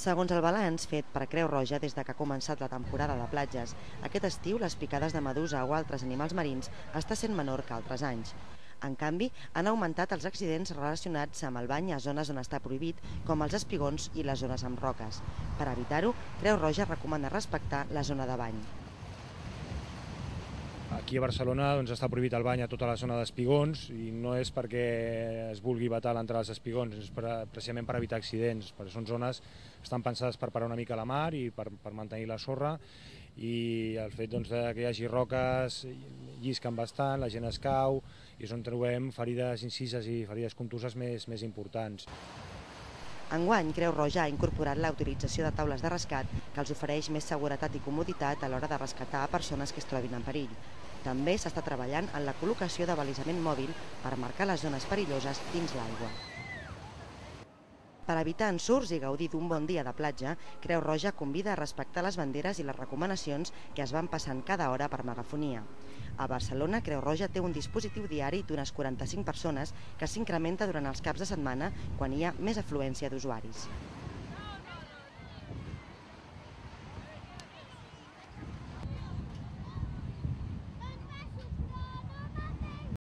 Segons el balanç fet per Creu Roja des de que ha començat la temporada de platges, aquest estiu les picades de medusa o altres animals marins està sent menor que altres anys. En canvi, han augmentat els accidents relacionats amb el bany a zones on està prohibit, com els espigons i les zones amb roques. Per evitar-ho, Creu Roja recomana respectar la zona de bany. Aquí a Barcelona està prohibit el bany a tota la zona d'espigons i no és perquè es vulgui vetar l'entrada als espigons, és precisament per evitar accidents, perquè són zones que estan pensades per parar una mica la mar i per mantenir la sorra, i el fet que hi hagi roques llisquen bastant, la gent es cau i és on trobem ferides incises i ferides contuses més importants. Enguany, Creu Roja ha incorporat la utilització de taules de rescat que els ofereix més seguretat i comoditat a l'hora de rescatar persones que es trobin en perill. També s'està treballant en la col·locació de balisament mòbil per marcar les zones perilloses dins l'aigua. Per evitar ensurts i gaudir d'un bon dia de platja, Creu Roja convida a respectar les banderes i les recomanacions que es van passant cada hora per megafonia. A Barcelona, Creu Roja té un dispositiu diari d'unes 45 persones que s'incrementa durant els caps de setmana quan hi ha més afluència d'usuaris.